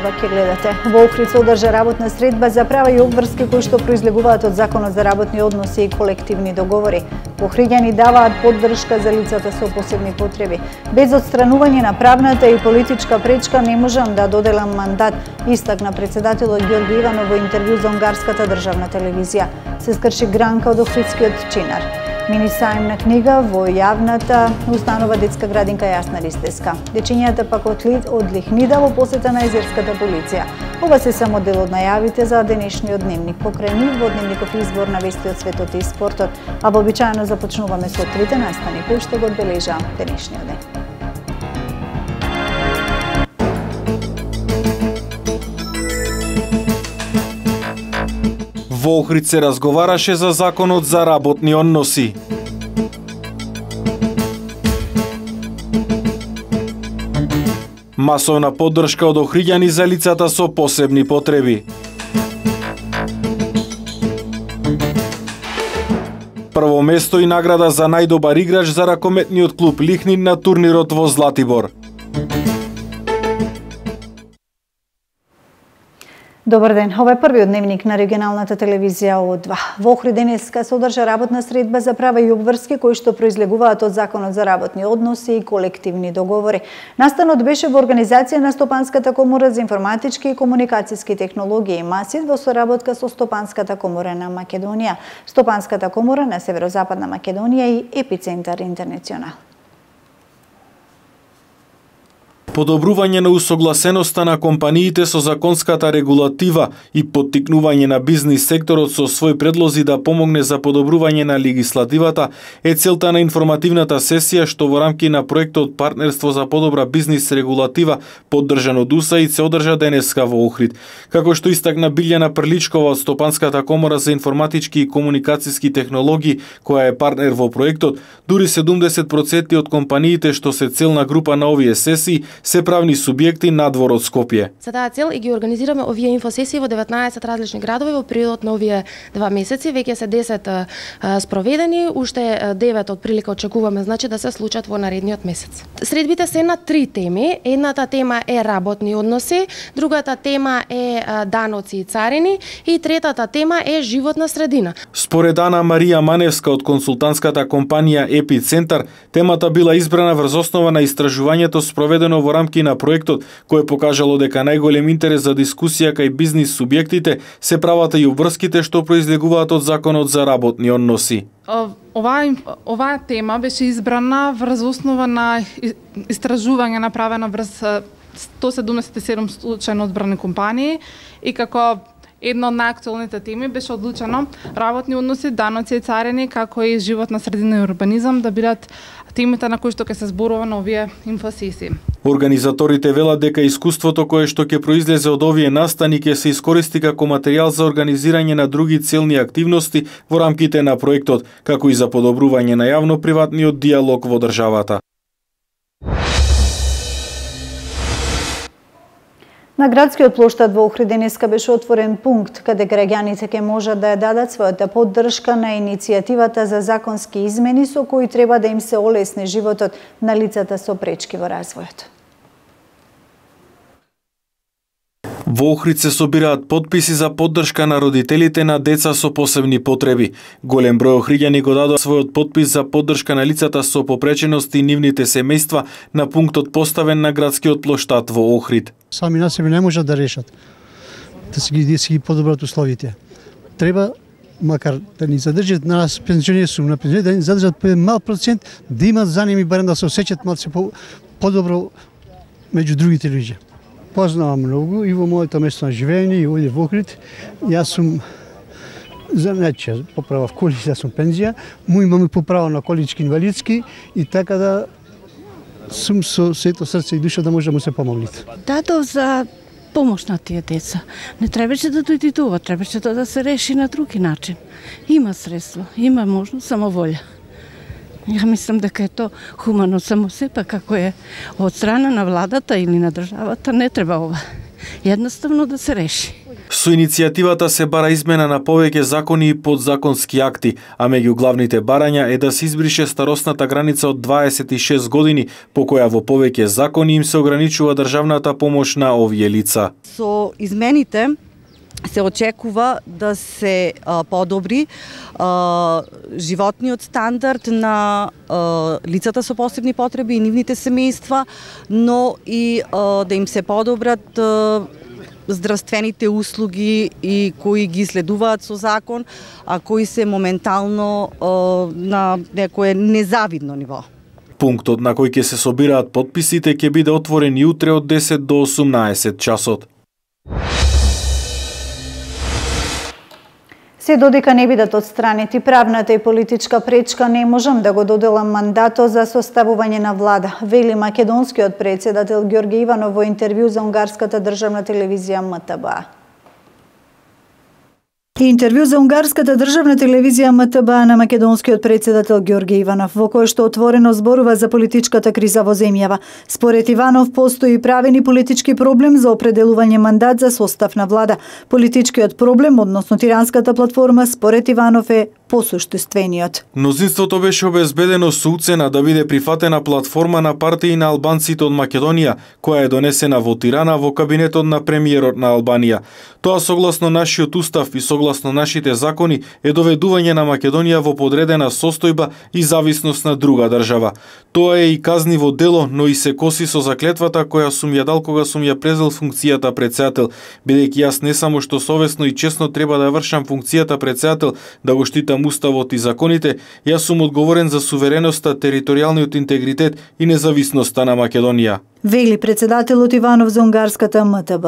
Ова ќе гледате. Во Охрид се одржа работна средба за права и обврски кои што произлегуваат од Законот за работни односи и колективни договори. Охриѓани даваат поддршка за лицата со посебни потреби. Без отстранување на правната и политичка пречка не можам да доделам мандат, истакна председателот Ѓорги Иванов во интервју за унгарската државна телевизија. Се скрши гранка од охридскиот чинар. Мини сајмна книга во јавната установа детска градинка Јасна Ристеска. Дечињата пак од Лихнида во посета на езерската полиција. Ова се само дел од најавите за денешниот дневник. Покрај нив во дневников избор на вести од светот и спортот, а вообичаено започнуваме со трите настани кои што го одбележа денешниот ден. Во Охрид се разговараше за Законот за работни односи. Масовна поддршка од охриѓани за лицата со посебни потреби. Прво место и награда за најдобар играч за ракометниот клуб Лихнид на турнирот во Златибор. Добар ден, ова е првиот дневник на регионалната телевизија О2. Во Охрид денеска се одржа работна средба за права и обврски кои што произлегуваат од Законот за работни односи и колективни договори. Настанот беше во организација на Стопанската комора за информатички и комуникацијски технологии МАСИД во соработка со Стопанската комора на Македонија, Стопанската комора на Северозападна Македонија и Епицентар Интернационал. Подобрување на усогласеноста на компаниите со законската регулатива и поттикнување на бизнис секторот со своји предлози да помогне за подобрување на легислативата е целта на информативната сесија што во рамки на проектот Партнерство за подобра бизнис регулатива поддржан од УСАИД се одржа денеска во Охрид. Како што истакна Билјана Прличкова од Стопанската комора за информатички и комуникацијски технологии, која е партнер во проектот, дури 70% од компаниите што се целна група на овие сесии се правни субјекти надвор од Скопје. За таа цел и ги организираме овие инфосесии во 19 различни градови во периодот на овие 2 месеци. Веќе се 10 спроведени, уште 9 од прилика очекуваме значи да се случат во наредниот месец. Средбите се на 3 теми. Едната тема е работни односи, другата тема е даноци и царини и третата тема е животна средина. Според Ана Марија Маневска од консултантската компанија Епицентар, темата била избрана врз основа на истражувањето спроведено во рамки на проектот, кој покажало дека најголем интерес за дискусија кај бизнис субјектите се правата и обврските што произлегуваат од Законот за работни односи. Оваа тема беше избрана врз основа на истражување направено врз 177 случајно одбрани компании и како една од најактуелните теми беше одлучено работни односи, даноци и царини, како и животна средина и урбанизам да бидат темите на кои што ќе се зборува на овие инфосесии. Организаторите велат дека искуството кое што ќе произлезе од овие настани ќе се искористи како материјал за организирање на други целни активности во рамките на проектот, како и за подобрување на јавно-приватниот диалог во државата. На градскиот плоштад во Охрид денеска беше отворен пункт каде граѓаните ќе можат да ја дадат својата поддршка на иницијативата за законски измени со кои треба да им се олесни животот на лицата со пречки во развојот. Во Охрид се собираат потписи за поддршка на родителите на деца со посебни потреби. Голем број охриѓани го дадоа својот потпис за поддршка на лицата со попреченост и нивните семејства на пунктот поставен на градскиот плоштад во Охрид. Сами на себе не можат да решат да си ги подобрат условите. Треба макар да ни задржат нас пензионери сум на пензионери, да ни задржат по мал процент, да имат за ними барем да се осеќат малце подобро меѓу другите луѓе. Познавам многу и во моето место на живење и овде во Охрид. Јас сум значи поправав коли, јас сум пензија, му имаме поправа на колички инвалидски и така да сум со сето срце и душа да може да му се помогнете. Дадов за помош на тие деца. Не требаше да дојде тоа, требаше да се реши на други начин. Има средство, има можност, само волја. Ја мислам дека е то хумано, само сепак како е од страна на владата или на државата не треба ова. Едноставно да се реши. Со иницијативата се бара измена на повеќе закони и подзаконски акти, а меѓу главните барања е да се избрише старосната граница од 26 години, по која во повеќе закони им се ограничува државната помош на овие лица. Со измените се очекува да се подобри животниот стандард на лицата со посебни потреби и нивните семејства, но и да им се подобрат здравствените услуги и кои ги следуваат со закон, а кои се моментално на некое незавидно ниво. Пунктот на кој ќе се собираат потписите ќе биде отворен и утре од 10 до 18 часот. Се додека не бидат отстранети правната и политичка пречка, не можам да го доделам мандатот за составување на влада, вели македонскиот председател Ѓорѓе Иванов во интервју за унгарската државна телевизија МТБ. Интервју за унгарската државна телевизија МТБ на македонскиот председател Ѓорѓе Иванов, во кој што отворено зборува за политичката криза во земјава. Според Иванов, постои правен и политички проблем за определување мандат за состав на влада. Политичкиот проблем, односно тиранската платформа, според Иванов е посуштествениот. Мнозинството беше обезбедено со уцена да биде прифатена платформа на партии на албанците од Македонија, која е донесена во Тирана во кабинетот на премиерот на Албанија. Тоа согласно нашиот устав и согласно нашите закони е доведување на Македонија во подредена состојба и зависност на друга држава. Тоа е и казниво дело, но и се коси со заклетвата која сум ја дал кога сум ја презел функцијата председател, бидејќи јас не само што совесно и честно треба да вршам функцијата председател, да го штитам уставот и законите, јас сум одговорен за сувереноста, територијалниот интегритет и независноста на Македонија, вели председателот Иванов за унгарската МТБ.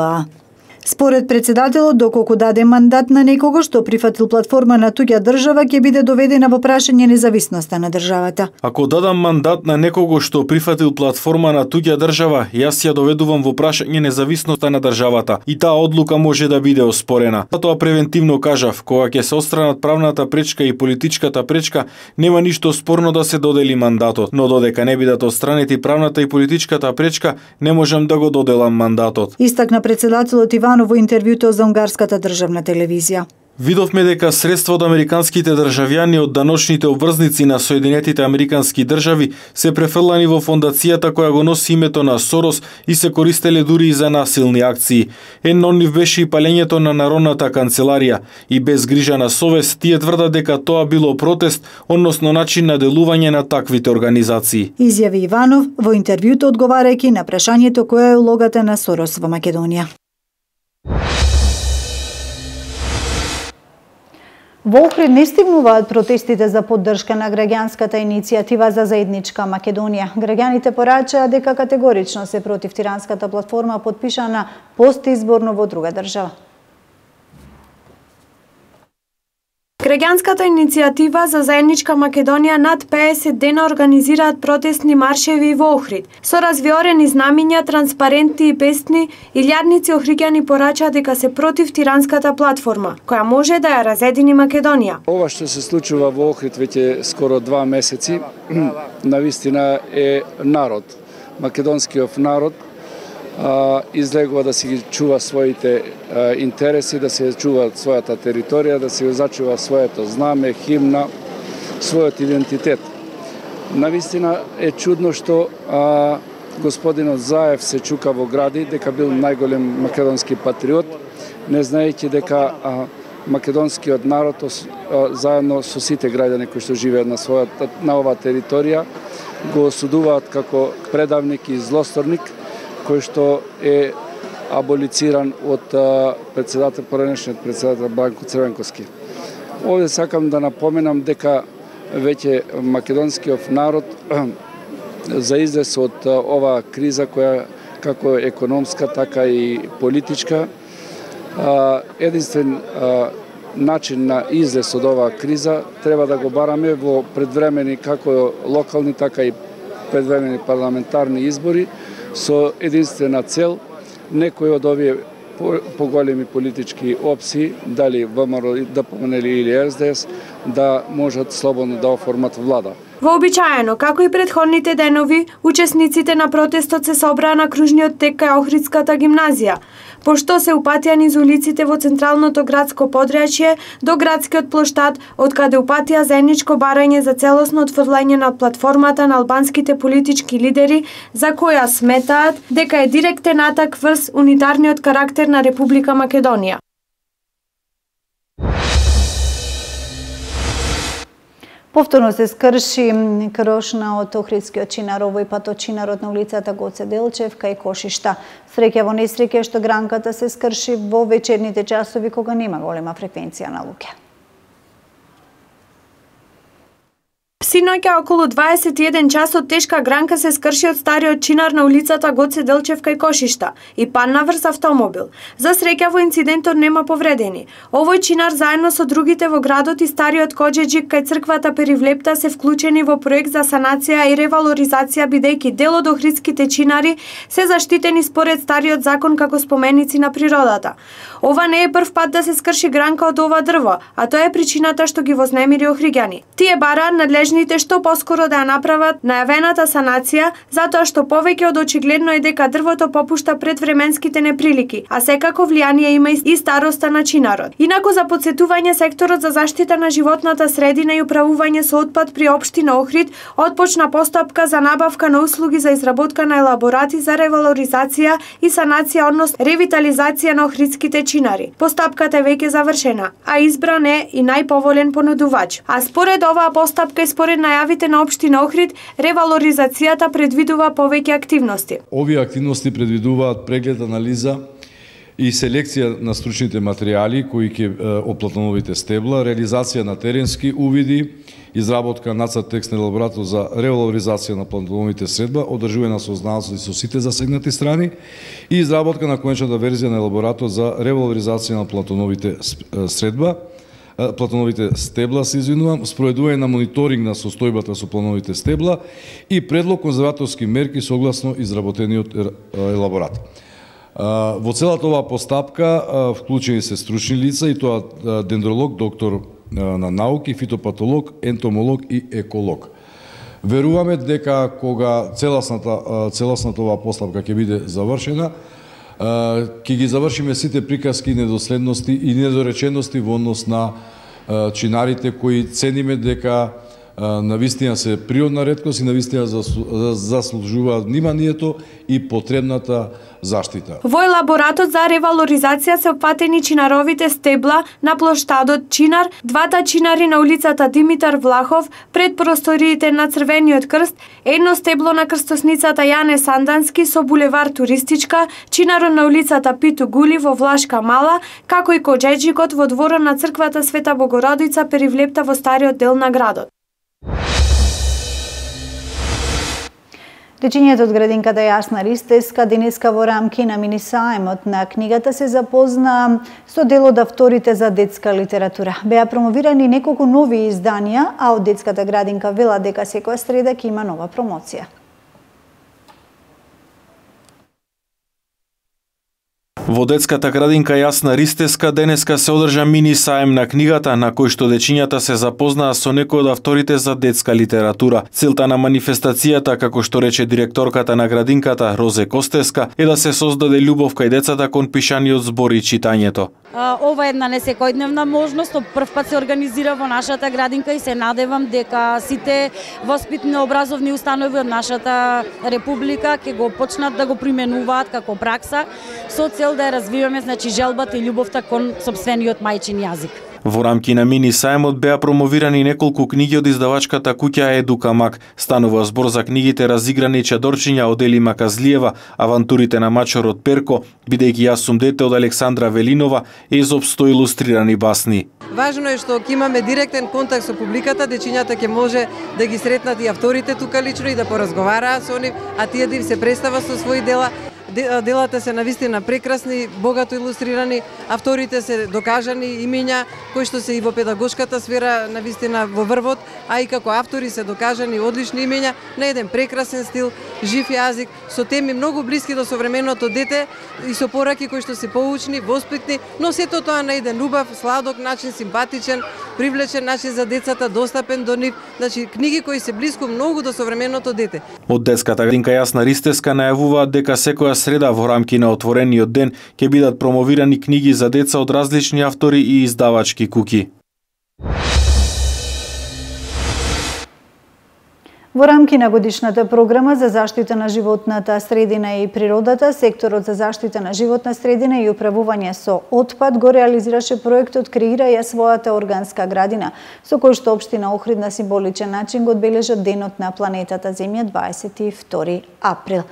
Според председателот, доколку даде мандат на некого што прифатил платформа на туѓа држава, ќе биде доведена во прашање независноста на државата. Ако дадам мандат на некого што прифатил платформа на туѓа држава, јас ја доведувам во прашање независноста на државата и таа одлука може да биде оспорена. Затоа превентивно кажав, кога ќе се отстранат правната пречка и политичката пречка, нема ништо спорно да се додели мандатот, но додека не бидат отстранети правната и политичката пречка, не можам да го доделам мандатот. Истакна председателот Иванов во интервјуто за унгарската државна телевизија. Видовме дека средства од американските државјани од даночните обврзници на Соединетите Американски држави се префрлани во фондацијата која го носи името на Сорос и се користеле дури и за насилни акции. Едно од нив беше и палењето на Народната канцеларија и без грижа на совест тие тврдат дека тоа било протест, односно начин на делување на таквите организации. Изјави Иванов во интервјуто одговарајќи на прашањето која е улогата на Сорос во Македонија. Во Охрид не стигнуваат протестите за поддршка на граѓанската иницијатива за заедничка Македонија. Граѓаните порачаа дека категорично се против тиранската платформа потпишана постизборно во друга држава. Граѓанската иницијатива за заедничка Македонија над 50 дена организираат протестни маршеви во Охрид. Со развиорени знамиња, транспаренти и песни, илјадници охриѓани порачаа дека се против тиранската платформа, која може да ја разедини Македонија. Ова што се случува во Охрид веќе скоро 2 месеци, навистина е народ, македонскиот народ, излегува да си ги чува своите интереси, да се чува својата територија, да се зачува своето знаме, химна, својот идентитет. Навистина е чудно што господинот Заев се чука во гради дека бил најголем македонски патриот, не знаејќи дека македонскиот народ заедно со сите граѓани кои што живеат на оваа територија го осудуваат како предавник и злосторник, кој што е аболициран од поранешниот председател Бранко Црвенковски. Овде сакам да напоменам дека веќе македонскиот народ за излез од оваа криза која како економска, така и политичка, единствен начин на излез од оваа криза треба да го бараме во предвремени како локални, така и предвремени парламентарни избори, со единствена цел некои од овие поголеми политички опции, дали ВМРО, ДПМН или РСДС, да можат слободно да оформат влада. Вообичаено, како и претходните денови, учесниците на протестот се собраа на кружниот тек кај Охридската гимназија, пошто се упатија низ улиците во централното градско подрачје до градскиот плоштад, од каде упатија заедничко барање за целосно отфрлање на платформата на албанските политички лидери, за која сметаат дека е директен атак врз унитарниот карактер на Република Македонија. Повторно се скрши крошна од Охридскиот чинар, овој пат од чинарот на улицата Гоце Делчев кај Кошишта. Среќа во несреќа што гранката се скрши во вечерните часови кога нема голема фреквенција на луѓе. Синоќа околу 21 часот тешка гранка се скрши од стариот чинар на улицата Гоце Делчев кај Кошишта и падна врз автомобил. За среќа во инцидентот нема повредени. Овој чинар заедно со другите во градот и стариот коџеџик кај црквата Перивлепта се вклучени во проект за санација и ревалоризација, бидејќи дел од охридските чинари се заштитени според стариот закон како споменици на природата. Ова не е прв пат да се скрши гранка од ова дрво, а тоа е причината што ги вознемири охриѓани. Тие бараат надлежните што поскоро да ја направат најавената санација, затоа што повеќе од очигледно е дека дрвото попушта пред временските неприлики, а секако влијание има и староста на чинарот. Инаку за подсетување, секторот за заштита на животната средина и управување со отпад при општина Охрид отпочна постапка за набавка на услуги за изработка на елаборати за ревалоризација и санација, однос ревитализација на охридските чинари. Постапката е веќе завршена, а избран е и најповолен понудувач. А според оваа постапка и според најавите на општина Охрид, ревалоризацијата предвидува повеќе активности. Овие активности предвидуваат преглед, анализа и селекција на стручните материјали кои ќе оплатановите стебла, реализација на теренски увиди, изработка нацрт текст на елаборатот за ревалоризација на платановите средба, одржување на сознанство со сите засегнати страни и изработка на конечната верзија на елаборатот за ревалоризација на платановите средба, платановите стебла, се извинувам, спроведување на мониторинг на состојбата со плановите стебла и предлог конзерваторски мерки согласно изработениот елаборат. Во целата оваа постапка вклучени се стручни лица, и тоа дендролог, доктор на науки, фитопатолог, ентомолог и еколог. Веруваме дека кога целосната оваа постапка ќе биде завршена, ќе ги завршиме сите приказки, недоследности и недоречености во однос на чинарите кои цениме дека навистина се природна реткост и навистина заслужуваат вниманието и потребната заштита. Во елаборатот за ревалоризација се опфатени чинаровите стебла на плоштадот Чинар, двата чинари на улицата Димитар Влахов пред просториите на Црвениот крст, едно стебло на крстосницата Јане Сандански со булевар Туристичка, чинарот на улицата Питу Гули во Влашка Мала, како и коџеџикот во дворот на црквата Света Богородица Перивлепта во стариот дел на градот. Дечињето од градинката Јасна Ристеска денеска во рамки на мини саемот на книгата се запозна со дел од авторите за детска литература. Беа промовирани неколку нови изданија, а од детската градинка вела дека секоја среда ќе има нова промоција. Во детската градинка Јасна Ристеска денеска се одржа мини саем на книгата, на кој што дечињата се запознаа со некои од авторите за детска литература. Целта на манифестацијата, како што рече директорката на градинката Розе Костеска, е да се создаде љубов кај децата кон пишаниот збор и читањето. Ова е една несекојдневна можност, прв пат се организира во нашата градинка и се надевам дека сите воспитни образовни установи од нашата република ќе го почнат да го применуваат како пракса со цел да ја развиваме, значи, желбата и љубовта кон сопствениот мајчин јазик. Во рамки на мини саемот беа промовирани неколку книги од издавачката куќа Едука Мак. Станува збор за книгите Разиграни чадорчиња од Ели Маказлиева, Авантурите на мачорот Перко, Бидејќи јас сум дете од Александра Велинова, Езоп со илустрирани басни. Важно е што ќе имаме директен контакт со публиката, дечињата ќе може да ги сретнат и авторите тука лично и да поразговараат со нив, а тие да им се представа со своји дела. Делата се навистина прекрасни, богато илустрирани, авторите се докажани имиња кои што се и во педагошката сфера навистина во врвот, а и како автори се докажани одлични имиња на еден прекрасен стил, жив јазик, со теми многу блиски до современото дете и со пораки кои што се поучни, воспитни, но сето тоа на еден убав, сладок начин, симпатичен, привлечен начин за децата, достапен до нив, значи книги кои се блиску многу до современото дете. Од детската градинка Јасна Ристевска најавуваат дека секоја среда во рамки на отворениот ден ќе бидат промовирани книги за деца од различни автори и издавачки куќи. Во рамки на годишната програма за заштита на животната средина и природата, секторот за заштита на животна средина и управување со отпад го реализираше проектот Креира ја својата органска градина, со кој што општина Охрид на символичен начин го одбележа Денот на планетата Земја 22 април.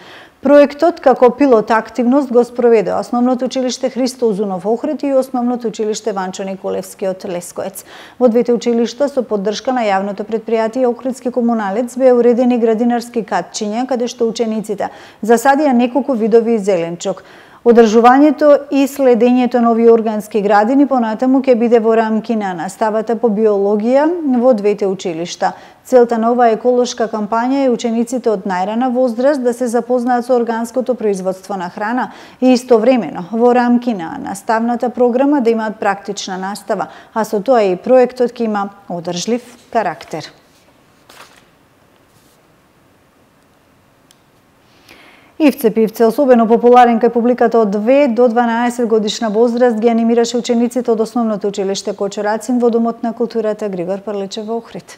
Проектот како пилот активност го спроведе Основното училиште Христо Узунов Охрид и Основното училиште Ванчо Николевски од Лесковец. Во двете училишта со поддршка на јавното предпријатие Охридски комуналец беа уредени градинарски катчиња каде што учениците засадија неколку видови зеленчук. Одржувањето и следењето на овие органски градини понатаму ќе биде во рамки на наставата по биологија во двете училишта. Целта на оваа еколошка кампања е учениците од најрана возраст да се запознаат со органското производство на храна и истовремено во рамки на наставната програма да имаат практична настава, а со тоа и проектот ќе има одржлив карактер. Ивце Пивце, особено популарен кај публиката од 2 до 12 годишна возраст, ги анимираше учениците од Основното училиште Кочо Рацин во Домот на културата Григор Прличев во Охрид.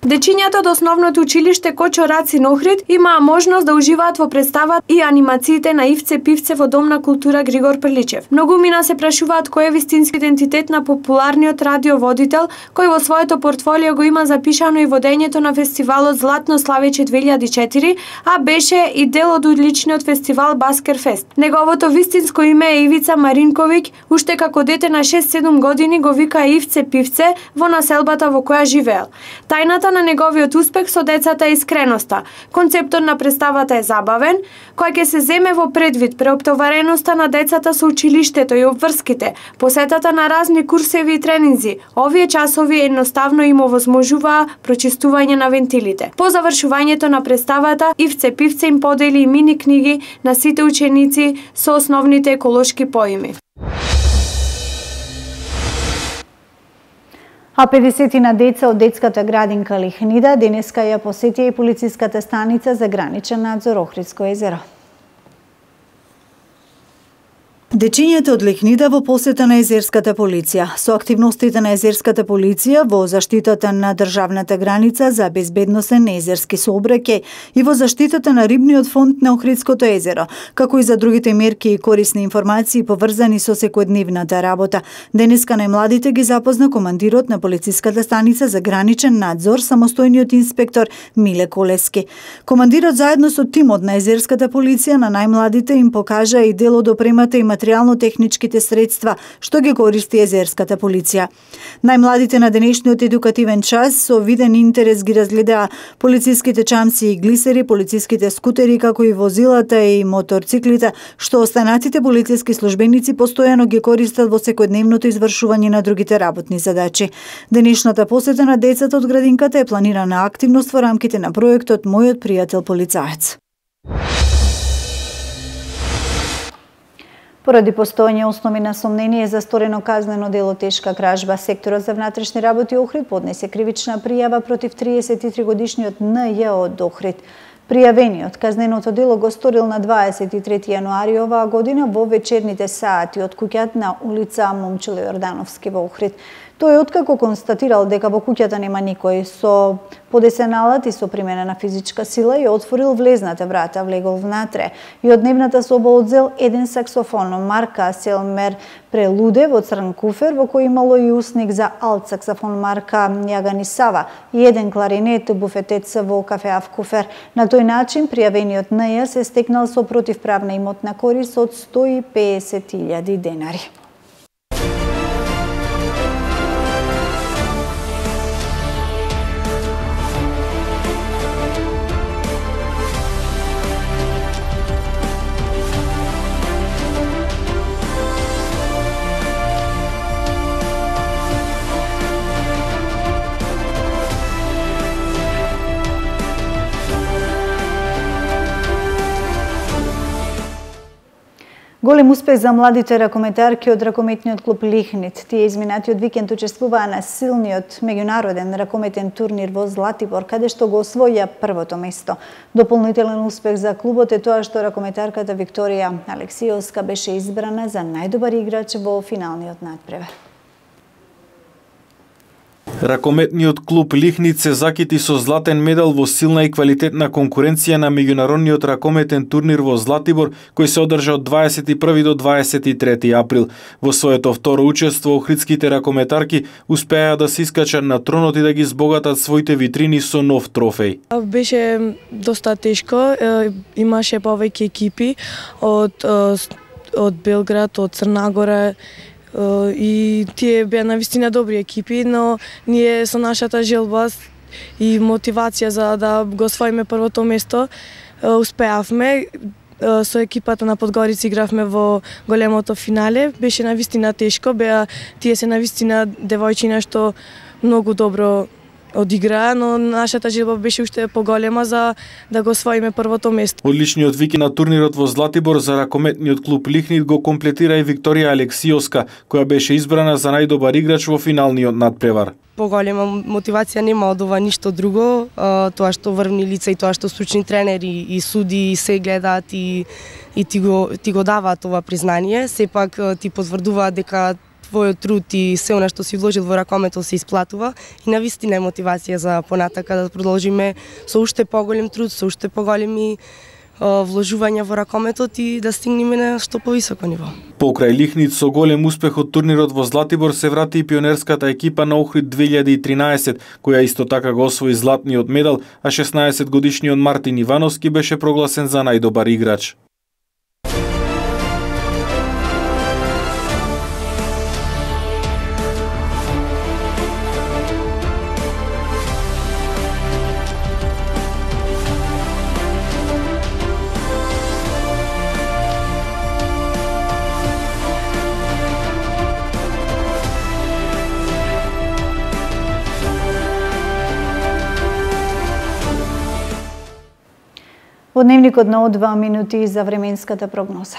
Дечињата од Основното училиште Кочо Рацин Охрид имаа можност да уживаат во представата и анимациите на Ивце Пивце во Дом на култура Григор Прличев. Многумина се прашуваат кој е вистински идентитет на популарниот радиоводител, кој во своето портфолио го има запишано и водењето на фестивалот Златно славење 2004, а беше и дел од одличниот фестивал Баскерфест. Неговото вистинско име е Ивица Маринковиќ, уште како дете на 6-7 години го вика Ивце Пивце во населбата во која живеел. Тајната на неговиот успех со децата е искреноста. Концептот на представата е забавен, кој ќе се земе во предвид преоптовареноста на децата со училиштето и обврските, посетата на разни курсеви и тренинзи. Овие часови едноставно им овозможуваа прочистување на вентилите. По завршувањето на представата, Ивце Пивце им подели и мини книги на сите ученици со основните еколошки поими. А 50 деца од детската градинка Лихнида денеска ја посетија и полициската станица за граничен надзор Охридско езеро. Дечињата од Лихнида во посета на езерската полиција. Со активностите на езерската полиција во заштитата на државната граница за безбедносен езерски сообраќај и во заштитата на рибниот фонд на Охридското езеро, како и за другите мерки и корисни информации поврзани со секојдневната работа. Денеска најмладите ги запозна командирот на полициската станица за граничен надзор, самостојниот инспектор Миле Колески. Командирот заедно со тимот на езерската полиција на најмладите им покажа и дел од опремата и материјално-техничките средства што ги користи езерската полиција. Најмладите на денешниот едукативен час со виден интерес ги разгледаа полициските чамци и глисери, полициските скутери, како и возилата и моторциклите, што останатите полициски службеници постојано ги користат во секојдневното извршување на другите работни задачи. Денешната посета на децата од градинката е планирана активност во рамките на проектот Мојот пријател полицаец. Поради постојање основи на сомнение за сторено казнено дело тешка кражба, секторот за внатрешни работи Охрид поднесе кривична пријава против 33 годишниот Н.Ј. од Охрид. Пријавениот казненото дело го сторил на 23 јануари оваа година во вечерните сати од куќата на улица Момчило Јордановски во Охрид. Тој откако констатирал дека во куќата нема никој, со подесен алат и со примена на физичка сила ја отворил влезната врата, влегол внатре и од дневната соба одзел еден саксофон марка Селмер Прелуде во црн куфер, во кој имало и усник за алт саксофон марка Јаганисава и еден кларинет буфетец во кафеав куфер. На тој начин пријавениот Н.Ј. се стекнал со противправна имотна корист од 150.000 денари. Голем успех за младите ракометарки од ракометниот клуб Лихнит. Тие изминатиот викенд учествуваа на силниот меѓународен ракометен турнир во Златибор, каде што го освоја првото место. Дополнителен успех за клубот е тоа што ракометарката Викторија Алексиовска беше избрана за најдобар играч во финалниот надпревар. Ракометниот клуб Лихнит се закити со златен медал во силна и квалитетна конкуренција на меѓународниот ракометен турнир во Златибор, кој се одржа од 21 до 23 април. Во своето второ учество, охридските ракометарки успеа да се искачат на тронот и да ги збогатат своите витрини со нов трофеј. Беше доста тешко, имаше повеќе екипи од Белград, од Црна Гора, и тие беа навистина добри екипи, но ние со нашата желба и мотивација за да го освоиме првото место успеавме. Со екипата на Подгорица игравме во големото финале. Беше навистина тешко, тие се навистина девојчина што многу добро одиграа, но нашата желба беше уште поголема за да го освоиме првото место. Одличниот викенд на турнирот во Златибор за ракометниот клуб Лихнит го комплетира и Викторија Алексиовска, која беше избрана за најдобар играч во финалниот надпревар. Поголема мотивација нема од ова ништо друго, тоа што врвни лица и тоа што стручни тренери и суди се гледаат и ти го даваат ова признание, сепак ти потврдуваат дека твојот труд и се она што си вложил во ракометот се исплатува и навистина е мотивација за понатака да продолжиме со уште поголем труд, со уште поголеми вложувања во ракометот и да стигнеме на што повисоко ниво. Покрај Лихнит со голем успех од турнирот во Златибор се врати и пионерската екипа на Охрид 2013, која исто така го освои златниот медал, а 16 годишниот Мартин Ивановски беше прогласен за најдобар играч. Во дневникот на 2 минути за временската прогноза.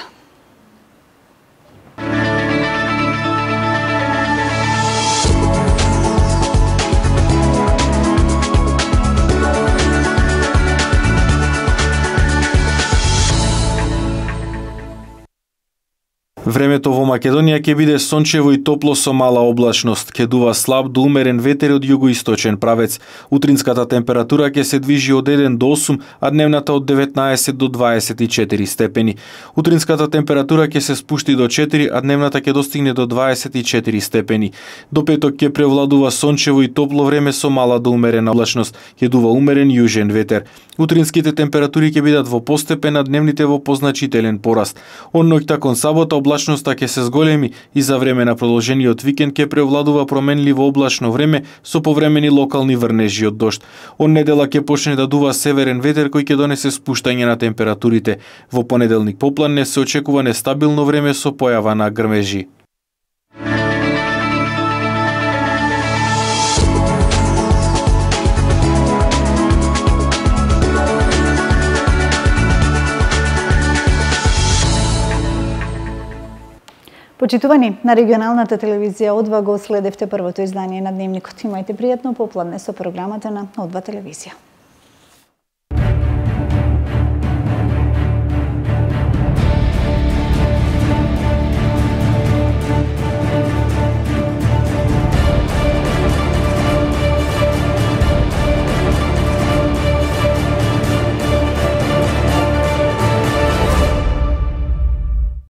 Времето во Македонија ќе биде сончево и топло со мала облачност. Ќе дува слаб до умерен ветер од југоисточен правец. Утринската температура ќе се движи од 1 до 8, а дневната од 19 до 24 степени. Утринската температура ќе се спушти до 4, а дневната ќе достигне до 24 степени. До петок ќе превладува сончево и топло време со мала до умерена облачност. Ќе дува умерен јужен ветер. Утринските температури ќе бидат во постепен, а дневните во позначителен пораст. Од ноќта кон сабота облачноста ќе се зголеми и за време на продолжениот викенд ќе превладува променливо облачно време со повремени локални врнежи од дожд. Од недела ќе почне да дува северен ветер кој ќе донесе спуштање на температурите. Во понеделник попладне се очекува нестабилно време со појава на грмежи. Почитувани, на регионалната телевизија О2 го следевте првото издание на Дневникот. Имајте пријатно попладне со програмата на О2 телевизија.